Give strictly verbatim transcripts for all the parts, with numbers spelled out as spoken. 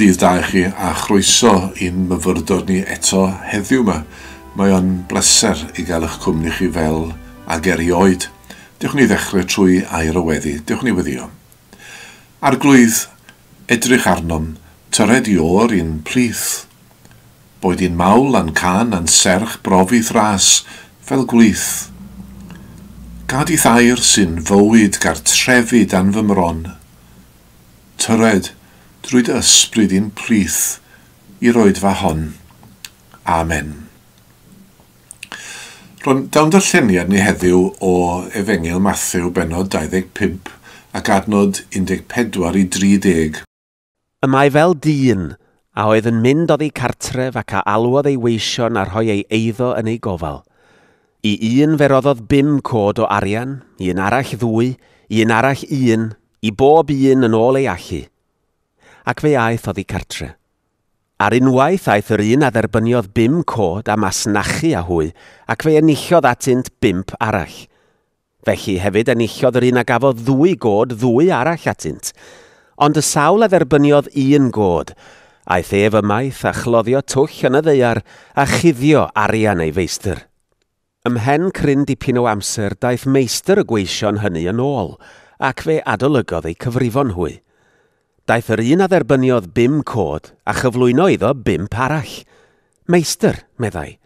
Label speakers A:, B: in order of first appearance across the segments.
A: dydd da i chi a chroeso i'n myfyrdod ni eto heddiw yma. Mae o'n bleser i gael eich cwmni chi fel ag erioed. Dewch ni ddechrau trwy air o weddi. Dewch ni weddio. Arglwydd, edrych arnom, tyred i o'r i'n plith. Boed i'n mawl a'n can a'n serch brofi thras fel gwlith. Gad i'th air sy'n fywyd gartrefu dan fy mron. Tyred drwy dy ysbryd i'n plith i'r oedfa hon. Amen. Rwan, dawn darlleniad ni heddiw o Efengyl Mathew bennod dau ddeg pump ac adnod un deg pedwar i dri deg.
B: Y mae fel dyn a oedd yn mynd oddi cartref ac a alwodd ei weision a rhoi ei eiddo yn ei gofal. I un fe roddodd bum cod o arian, i un arall ddwy, i un arall un, i bob un yn ôl ei allu. Ac fe aeth oddi cartre. Ar unwaith aeth yr un a dderbyniodd bum cod a masnachu â hwy, ac fe enillodd atynt bump arall. Felly hefyd enillodd yr un a gafodd ddwy god ddwy arall atynt. Ond y sawl a dderbyniodd un god, aeth ef ymaith a chloddio twll yn y ddaear a chuddio arian ei feistr. Ymhen cryn dipyn o amser daeth meistr y gweision hynny yn ôl, ac fe adolygodd eu cyfrifon hwy. Daeth yr un a dderbyniodd bum cod a chyflwyno iddo bump arall. Meistr, meddai,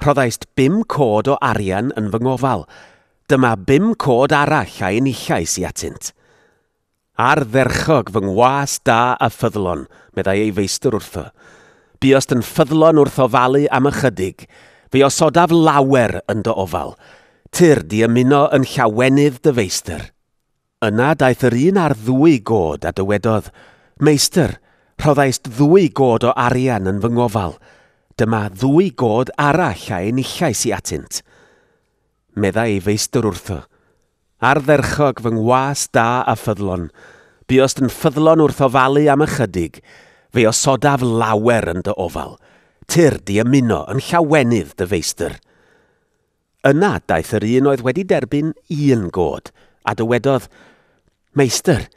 B: rhoddaist bum cod o arian yn fy ngofal. Dyma bum cod arall a enillais i atynt. Ardderchog fy ngwas da a ffyddlon, meddai ei feistr wrtho. Buost yn ffyddlon wrth ofalu am ychydig, fe osodaf lawer yn dy ofal. Tyrd i ymuno yn llawenydd dy feistr. Yna daeth yr un ar ddwy god a dywedodd, Meistr, rhoddaist ddwy god o arian yn fy ngofal. Dyma ddwy god arall a enillais i atynt. Meddai ei feistr wrtho, Ardderchog fy ngwas da a ffyddlon. Buost yn ffyddlon wrth ofalu am ychydig, fe osodaf lawer yn dy ofal. Tyrd i ymuno yn llawenydd dy feistr. Yna daeth yr un oedd wedi derbyn un god, a dywedodd, Meistr,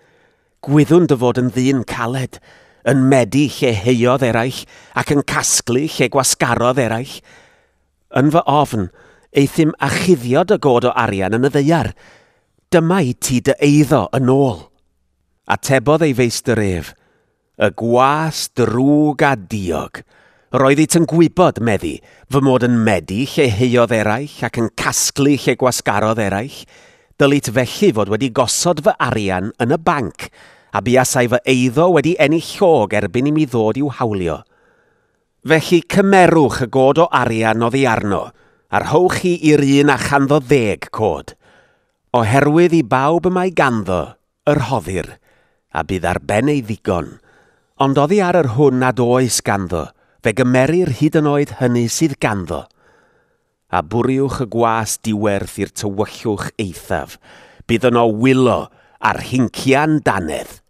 B: gwyddwn dy fod yn ddyn caled, yn medi lle heiodd eraill ac yn casglu lle gwasgarodd eraill. Yn fy ofn, euthum a chuddio dy god o arian yn y ddaear. Dyma i ti dy eiddo yn ôl. Atebodd ei feistr ef, y gwas drwg a diog. Roeddit yn gwybod, meddi, fy mod yn medi lle heiodd eraill ac yn casglu lle gwasgarodd eraill. Dylit felly fod wedi gosod fy arian yn y banc, a buasai fy eiddo wedi ennill llog erbyn i mi ddod i'w hawlio. Felly cymerwch y god o arian oddi arno, a rhowch chi i'r un a chanddo ddeg cod. Oherwydd i bawb y mae ganddo, yr rhoddir, a bydd ar ben ei ddigon. Ond oddi ar yr hwn nad oes ganddo, fe gymerir hyd yn oed hynny sydd ganddo. A bwriwch y gwas diwerth i'r tywyllwch eithaf, bydd yno wylo a'r hincian dannedd.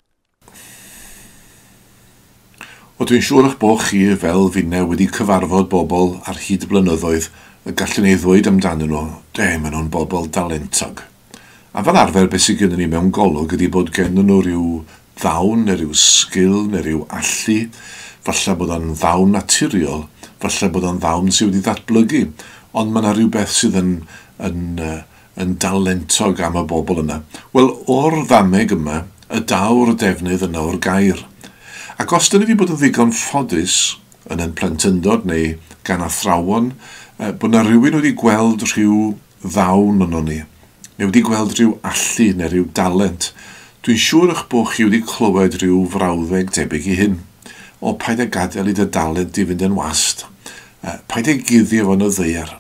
A: O, dwi'n siŵr eich bod chi fel finne wedi cyfarfod bobl ar hyd blynyddoedd y gallwn ei ddweud amdanyn nhw, de, maen nhw'n bobl dalentog. A fel arfer beth sydd gennym ni mewn golwg ydy bod gennyn nhw rhyw ddawn neu rhyw sgil neu rhyw allu, falle bod o'n ddawn naturiol, falle bod o'n ddawn sydd wedi ddatblygu, ond mae yna rhywbeth sydd yn, yn, yn dalentog am y bobl yna. Wel, o'r ddameg yma, y daw'r defnydd yna o'r gair. Ac os dyn ni wedi bod yn ddigon ffodus yn ein plentyndod neu gan athrawon, bod yna rhywun wedi gweld rhyw ddawn yno ni, neu wedi gweld rhyw allu neu rhyw dalent, dwi'n siŵr eich bod chi wedi clywed rhyw frawddeg tebyg i hyn. O, paid â gadael i dy dalent i fynd yn wast. Paid â guddio fo yn y ddaear.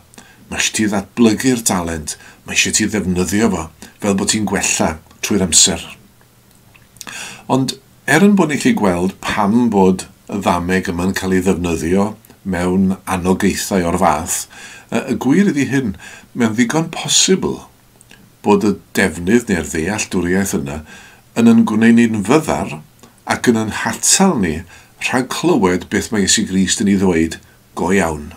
A: Mae eisiau ti ddatblygu'r talent, mae eisiau ti ddefnyddio fo, fel bod ti'n gwella trwy'r amser. Ond er yn bod ni'n gallu gweld pam bod y ddameg yma'n cael ei ddefnyddio mewn anogaethau o'r fath, y gwir ydy hyn, mae'n ddigon posibl bod y defnydd neu'r ddealltwriaeth yna yn yn gwneud ni'n fyddar ac yn yn hatal ni rhag clywed beth mae Iesu Grist yn ei ddweud go iawn.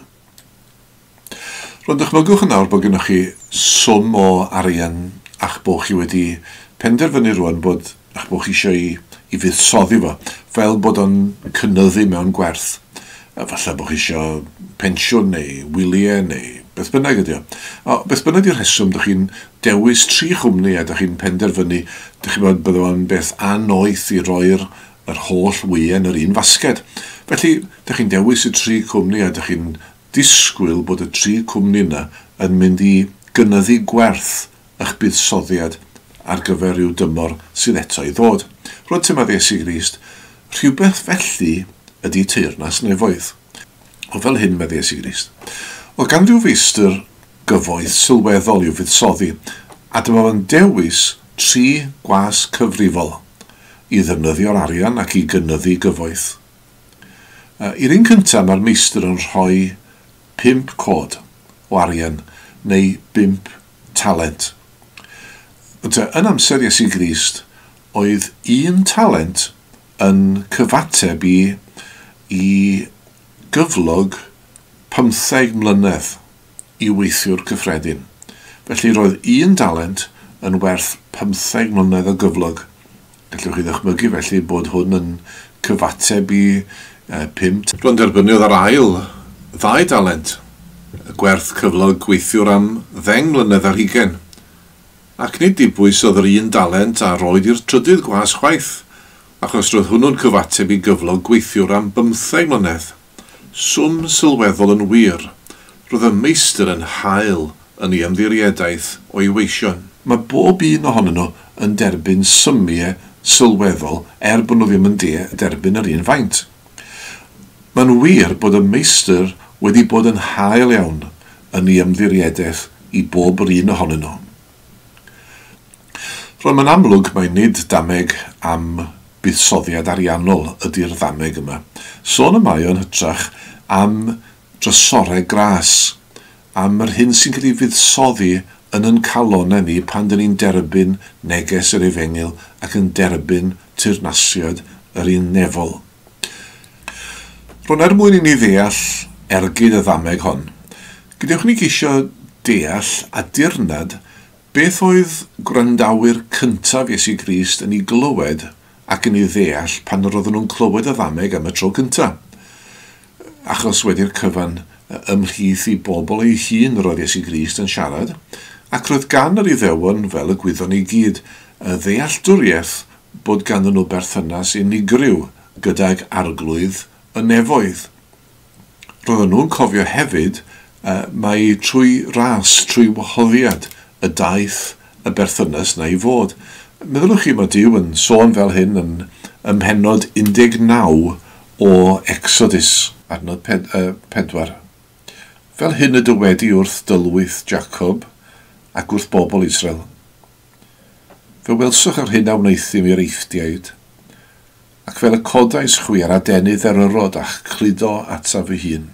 A: Rwan, dychmygwch yn awr bod gennych chi swm o arian a'ch bod chi wedi penderfynu rwan bod a'ch bod chi eisiau i fuddsoddi fo, fel bod o'n cynyddu mewn gwerth. Falle bod chi eisiau pensiwn neu wyliau neu beth bynnag ydy o. O, beth bynnag yw'r rheswm, dych chi'n dewis tri chwmni a dych chi'n penderfynu, dych chi'n bod bydde fo'n beth annoeth i roi'r yr holl wyau yn yr un fasged. Felly, dych chi'n dewis y tri cwmni a dych chi'n disgwyl bod y tri cwmni yna yn mynd i gynyddu gwerth eich buddsoddiad ar gyfer rhyw dymor sydd eto i ddod. Rwy'n teimlo Iesu Grist, rhywbeth felly ydy teyrnas nefoedd. O fel hyn, medde Iesu Grist. O gan ryw feistr gyfoeth sylweddol i'w fuddsoddi, a dyma fo'n dewis tri gwas cyfrifol i ddefnyddio'r arian ac i gynyddu gyfoeth. I'r un cyntaf, mae'r meistr yn rhoi pump cod o arian neu bump talent. Yn amser Iesu Grist, oedd un talent yn cyfateb i, i gyflog pymtheg mlynedd i weithiwr cyffredin. Felly roedd un talent yn werth pymtheg mlynedd o gyflog. Gallwch chi ddychmygu felly bod hwn yn cyfateb i uh, pump. Rwy'n derbyniodd yr ail ddau dalent, gwerth cyflog gweithiwr am ddeng mlynedd ar hugain. Ac nid dibwys oedd yr un dalent a roed i'r trydydd gwas chwaith, achos roedd hwnnw'n cyfateb i gyflog gweithiwr am bymtheg mlynedd. Swm sylweddol yn wir, roedd y meistr yn hael yn ei ymddiriedaeth o'i weision. Mae bob un ohonyn nhw yn derbyn symiau sylweddol er bod nhw ddim yn de derbyn yr un faint. Mae'n wir bod y meistr wedi bod yn hael iawn yn ei ymddiriedaeth i bob yr un ohonyn nhw. Roedd mae'n amlwg mai nid dameg am buddsoddiad ariannol ydy'r ddameg yma. Sôn y mae o'n hytrach am drysorau gras, am yr hyn sy'n cael ei fuddsoddi yn yn calonau ni pan dyn ni'n derbyn neges yr efengyl ac yn derbyn teyrnasiad yr un nefol. Rwy'n er mwyn i ni ddeall ergyd y ddameg hon, gadewch ni geisio deall a dirnad beth oedd gwrandawyr cyntaf Iesu Grist yn ei glywed ac yn ei ddeall pan roedden nhw'n clywed y ddameg am y tro cyntaf. Achos wedi'r cyfan ymhlith i bobl ei hun roedd Iesu Grist yn siarad, ac roedd gan yr Iddewon, fel y gwyddon i gyd, y ddealltwriaeth bod ganddyn nhw berthynas unigryw gydag arglwydd y nefoedd. Roedden nhw'n cofio hefyd uh, mai trwy ras, trwy wahoddiad, y daeth y berthynas na i fod. Meddylwch chi, mae Duw yn sôn fel hyn yn ym mhennod un deg naw o Exodus, adnod ped, uh, pedwar. Fel hyn y dywedi wrth dylwyth Jacob ac wrth bobl Israel. Fe welswch yr hyn a wnaethum i'r Eifftiaid, ac fel y codais chwi ar adenydd eryrod a'ch cludo ataf fy hun.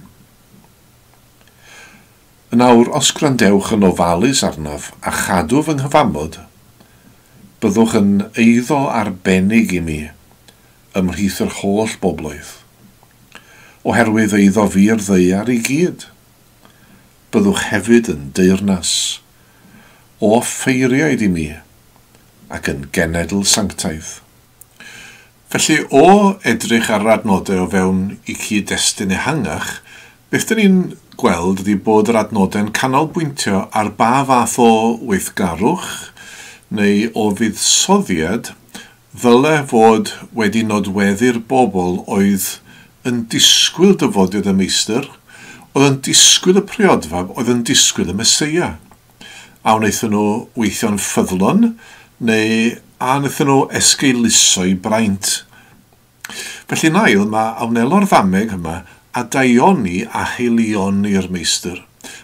A: Yn awr, os gwrandewch yn ofalus arnaf a chadw fy nghyfamod, byddwch yn eiddo arbennig i mi ymhlith yr holl bobloedd, oherwydd eiddo fi'r ddaear i gyd. Byddwch hefyd yn deyrnas, o ffeiriaid i mi, ac yn genedl sanctaidd. Felly, o edrych ar yr adnodau o fewn i cyd-destun ehangach, beth dyn ni'n gweld ydy bod yr adnodau'n canolbwyntio ar ba fath o weithgarwch neu o fuddsoddiad ddyle fod wedi nodweddu'r bobl oedd yn disgwyl dyfodiad y meistr, oedd yn disgwyl y priodfab, oedd yn disgwyl y Meseia. A wnaethon nhw weithio'n ffyddlon, neu a wnaethon nhw esgeuluso i braint. Felly yn ail, mae a wnelo'r ddameg yma a daioni a haelioni'r meistr.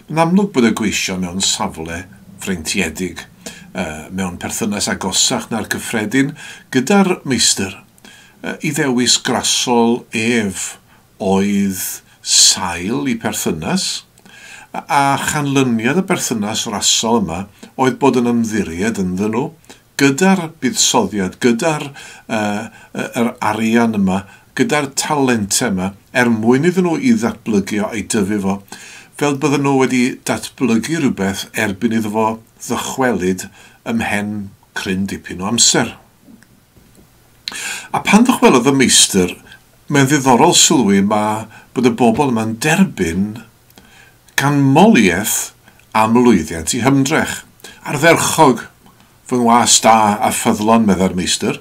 A: Mae'n amlwg bod y gweision mewn safle freintiedig, uh, mewn perthynas agosach na'r cyffredin gyda'r meistr. Uh, I ddewis grasol ef oedd sail i perthynas, a chanlyniad y berthynas rasol yma oedd bod yn ymddiried ynddyn nhw, gyda'r buddsoddiad, gyda'r uh, yr arian yma, gyda'r talentau yma, er mwyn iddyn nhw i ddatblygu o a'i dyfu fo, fel bydden nhw wedi datblygu rhywbeth erbyn iddo fo ddychwelyd ymhen cryn dipyn o amser. A pan ddychwelodd y meistr, mae'n ddiddorol sylwi ma bod y bobl yma'n derbyn ganmoliaeth am lwyddiant i hymdrech. Ardderchog, fy ngwas da a ffyddlon, meddai'r meistr.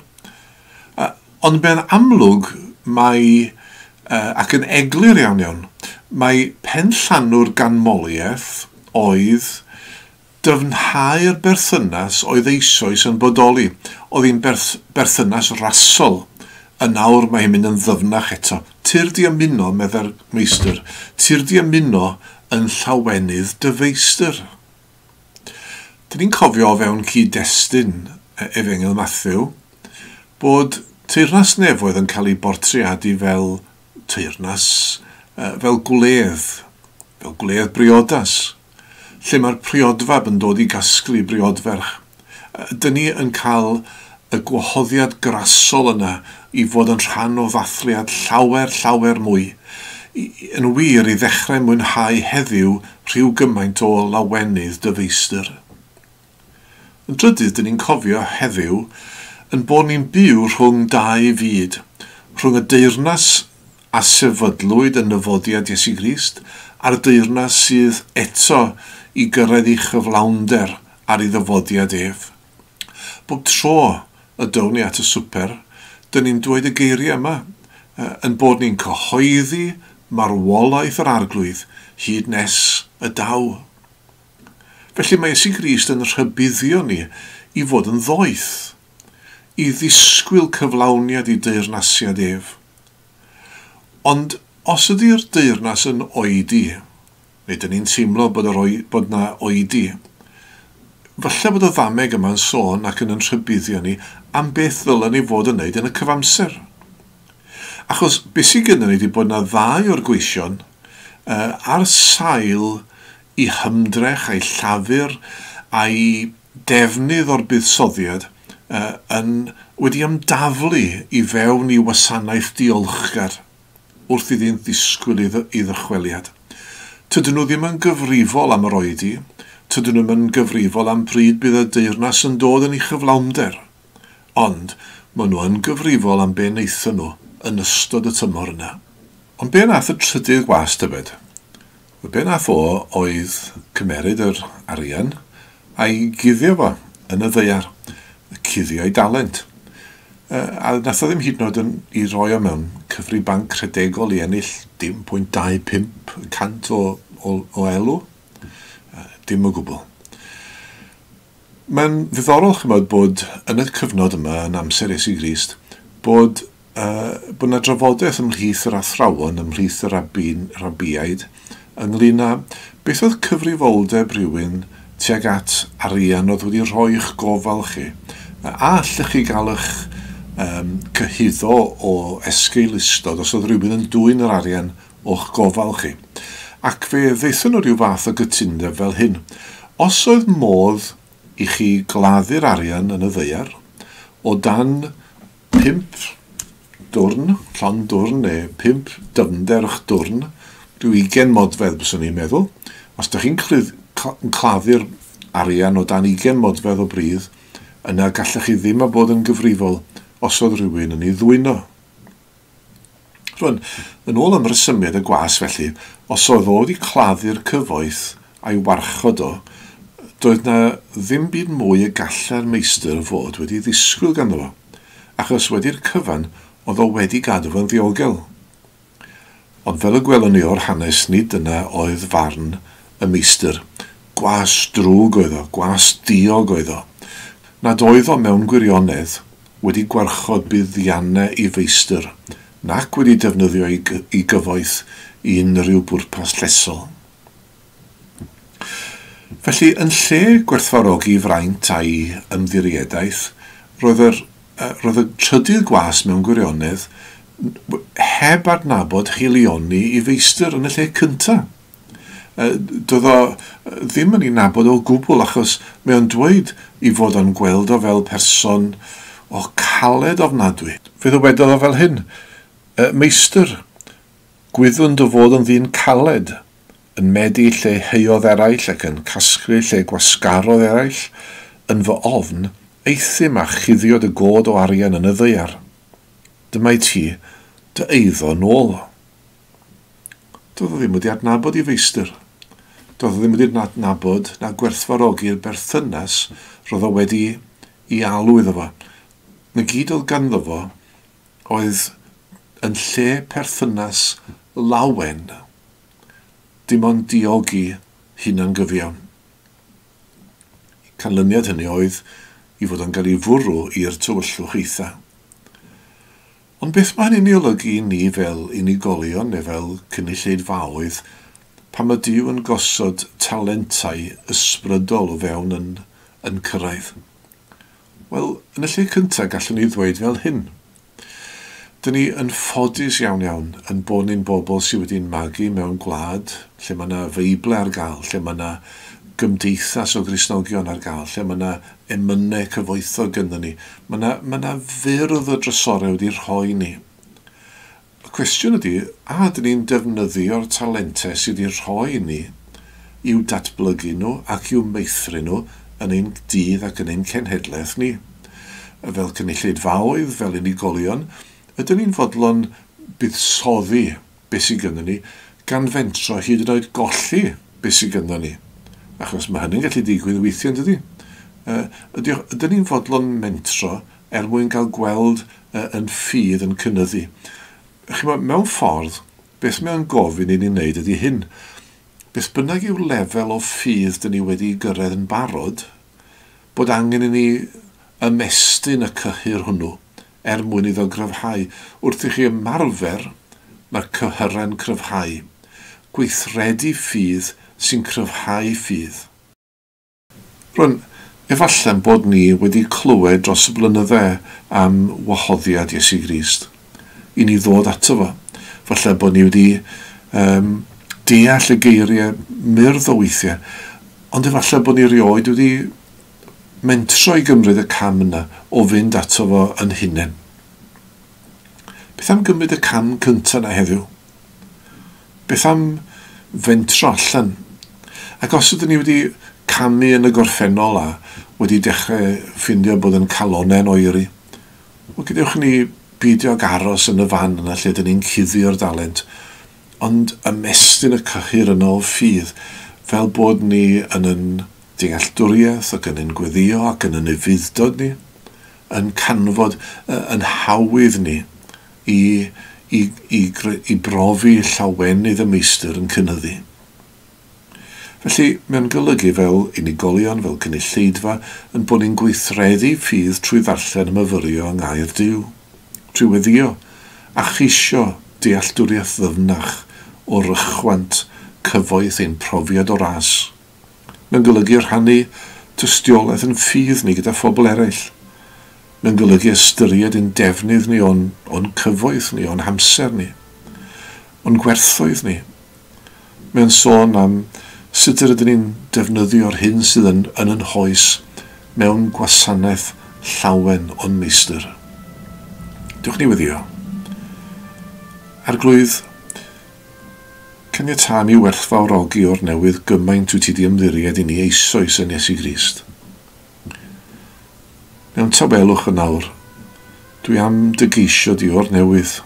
A: Ond mae'n amlwg mae, ac yn eglur iawn iawn, mae penllanw'r ganmoliaeth oedd dyfnhau'r berthynas oedd eisoes yn bodoli. Oedd hi'n berth, berthynas rasol. A nawr mae hi'n mynd yn ddyfnach eto. Tyrd i ymuno, meddai'r meistr, tyrd i ymuno yn llawenydd dy feistr. Dyn ni'n cofio o fewn cyd-destun Efengyl Mathew bod teyrnas nefoedd yn cael ei bortreadu fel teyrnas, fel gwledd, fel gwledd briodas, lle mae'r priodfab yn dod i gasglu briodferch. Dyn ni yn cael y gwahoddiad grasol yna i fod yn rhan o ddathliad llawer, llawer mwy. Yn wir i ddechrau mwynhau heddiw rhyw gymaint o lawenydd dy feistr. Yn drydydd, dyn ni'n cofio heddiw yn bod ni'n byw rhwng dau fyd, rhwng y deyrnas a sefydlwyd yn nyfodiad Iesu Grist a'r deyrnas sydd eto i gyrraedd ei chyflawnder ar ei ddyfodiad ef. Bob tro y down ni at y swper, dyn ni'n dweud y geiriau yma, yn bod ni'n cyhoeddi marwolaeth yr Arglwydd hyd nes y daw. Felly mae Iesu Grist yn rhybuddio ni i fod yn ddoeth, i ddisgwyl cyflawniad i deyrnasiad ef. Ond os ydy'r deyrnas yn oedi, neu dyn ni'n teimlo bod, yr oi, bod na oedi, falle bod y ddameg yma'n sôn ac yn yn rhybuddio ni am beth ddylen ni fod yn wneud yn y cyfamser. Achos beth sydd gennym ni ydy bod na ddau o'r gweision uh, ar sail i hymdrech a'i llafur a'i defnydd o'r buddsoddiad uh, yn wedi ymdaflu i fewn i wasanaeth diolchgar wrth iddynt ddisgwyl i, i ddychweliad. Tydyn nhw ddim yn gyfrifol am yr oedi, tydyn nhw'n yn gyfrifol am pryd bydd y deyrnas yn dod yn ei chyflawnder. Ond maen nhw yn gyfrifol am be wnaethon nhw yn ystod y tymor yna. Ond be nath y trydydd gwas tybed? Be nath o oedd cymeryd yr arian a'i guddio fo yn y ddaear, cuddio ei dalent. A nath o ddim hyd yn oed yn, i roi o mewn cyfri banc rhedegol i ennill dim pwynt dau pump cant o, o, o elw. Dim o gwbl. Mae'n ddiddorol chymod bod yn y cyfnod yma, yn amser Iesu Grist, bod, uh, bod yna drafodaeth ymhlith yr athrawon, ymhlith y rabin, rabiaid, ynglyn â beth oedd cyfrifoldeb rhywun tuag at arian oedd wedi rhoi eich gofal chi. A allech chi gael eich um, cyhuddo o esgeulustod os oedd rhywun yn dwyn yr arian o'ch gofal chi. Ac fe ddaethon nhw rhyw fath o gytundeb fel hyn. Os oedd modd i chi gladdu'r arian yn y ddaear o dan pump dwrn, llond dwrn neu pump dyfnder o'ch dwrn, rhyw ugain modfedd byswn i'n meddwl. Os ydych chi'n claddu'r arian o dan ugain modfedd o bridd, yna gallech chi ddim a bod yn gyfrifol os oedd rhywun yn ei ddwyno. Rwan, yn ôl am resymiad y gwas felly, os oedd o wedi claddu'r cyfoeth a'i warchod o, doedd na ddim byd mwy y gallai'r meistr fod wedi ddisgwyl ganddo fo, achos wedi'r cyfan oedd o wedi gadw fo'n ddiogel. Ond fel y gwelwn ni o'r hanes, nid dyna oedd farn y meistr. Gwas drwg oedd o, gwas diog oedd o. Nad oedd o mewn gwirionedd wedi gwarchod buddiannau i feistr, nac wedi defnyddio ei, ei gyfoeth i unrhyw bwrpas llesol. Felly, yn lle gwerthfawrogi fraint a'i ymddiriedaeth, roedd yr, roedd y trydydd gwas mewn gwirionedd heb adnabod haelioni i feistr yn y lle cyntaf. Doedd o ddim yn ei nabod o gwbl, achos mae o'n dweud i fod o'n gweld o fel person o caled ofnadwy. Fe ddywedodd o fel hyn: Meistr, gwyddwn dy fod yn ddyn caled, yn medi lle heuodd eraill ac yn casglu lle gwasgarodd eraill, yn fy ofn, euthum a chuddio dy god o arian yn y ddaear. Dyma i ti dy eiddo nôl. Doedd o ddim wedi adnabod ei feistr. Doedd o ddim wedi adnabod na gwerthfawrogi'r berthynas roedd o wedi i alw iddo fo. Na gyd oedd ganddo fo oedd yn lle perthynas lawen, dim ond diogi hunan gyfiawn. Canlyniad hynny oedd i fod yn cael ei fwrw i'r tywyllwch eitha. Ond beth mae hynny'n ei olygu i ni fel unigolion neu fel cynulleidfaoedd pan mae Duw yn gosod talentau ysbrydol o fewn yn, yn cyrraedd? Wel, yn y lle cyntaf gallwn ni ddweud fel hyn. Dyn ni yn ffodus iawn iawn yn bod ni'n bobl sydd wedi'n magu mewn gwlad lle mae yna Feibl ar gael, lle mae yna gymdeithas o Gristnogion ar gael, lle mae yna emynau cyfoethog gyda ni. Mae yna, mae yna fyrdd o drysorau wedi rhoi ni. Y cwestiwn ydy, a dyn ni'n defnyddio'r talentau sydd wedi rhoi ni i'w datblygu nhw ac i'w meithrin nhw yn ein dydd ac yn ein cenhedlaeth ni? Fel cynulleidfaoedd, fel unigolion, ydyn ni'n fodlon buddsoddi beth sydd gynnon ni gan fentro hyd yn oed golli beth sydd gynnon ni? Achos mae hynny'n gallu digwydd weithiau, yn dydy? Ydy, ydyn ni'n fodlon mentro er mwyn cael gweld uh, yn ffydd yn cynyddu? Chimod, mewn ffordd, beth mae'n gofyn i ni wneud ydy hyn. Beth bynnag yw lefel o ffydd dyn ni wedi gyrraedd yn barod, bod angen i ni ymestyn y cyhyr hwnnw er mwyn iddo gryfhau. Wrth i chi ymarfer, mae'r cyhyrau'n cryfhau. Gweithredu ffydd sy'n cryfhau ffydd. Rwan, efallai bod ni wedi clywed dros y blynydde am wahoddiad Iesu Grist i ni ddod ato fo. Falle bod ni wedi um, deall y geiriau myrdd o weithiau, ond efallai bod ni rioed wedi mentro i gymryd y cam yna o fynd ato fo yn hunain. Beth am gymryd y cam cyntaf yna heddiw? Beth am fentro allan? Ac os ydyn ni wedi camu yn y gorffennol a wedi dechrau ffindio bod yn calonau'n oeri, wel, gadewch ni beidio ag aros yn y fan yna lle dyn ni'n cuddio'r dalent, ond ymestyn y cyhyr yna o ffydd, fel bod ni yn yn dealltwriaeth ac yn ein gweddio ac yn yn ufudd-dod ni, yn canfod yn hawydd ni i, i, i, i brofi llawenydd y meistr yn cynyddu. Felly, mae'n golygu fel unigolion, fel cynulleidfa, yn bod ni'n gweithredu ffydd trwy ddarllen y myfyrio yng ngair Duw, trwy weddio a cheisio dealltwriaeth ddyfnach o rychwant cyfoeth ein profiad o ras. Mae'n golygu rhannu tystiolaeth yn ffydd ni gyda phobl eraill. Mae'n golygu ystyried ein defnydd ni o'n, o'n cyfoeth ni, o'n hamser ni, o'n gwerthoedd ni. Mae'n sôn am sut yr ydyn ni'n defnyddio'r hyn sydd yn, yn yn hoes mewn gwasanaeth llawen o'n meistr. Dewch ni weddio. Arglwydd, caniatâ mi werthfawrogi o'r newydd gymaint wyt ti di ymddiried i ni eisoes yn Iesu Grist. Mewn tawelwch yn awr, dwi am dy geisio di o'r newydd.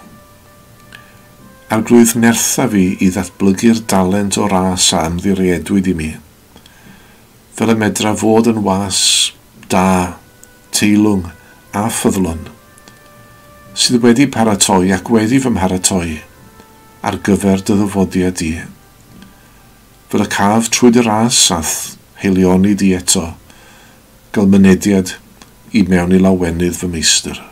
A: Arglwydd, nertha fi i ddatblygu'r dalent o ras a ymddiriedwyd i mi, fel y medra fod yn was da, teilwng a ffyddlon, sydd wedi paratoi ac wedi fy mharatoi ar gyfer dy ddyfodiad di. Fel y caf trwy dy ras a'th haelioni di eto, gael mynediad i mewn i lawenydd fy meistr.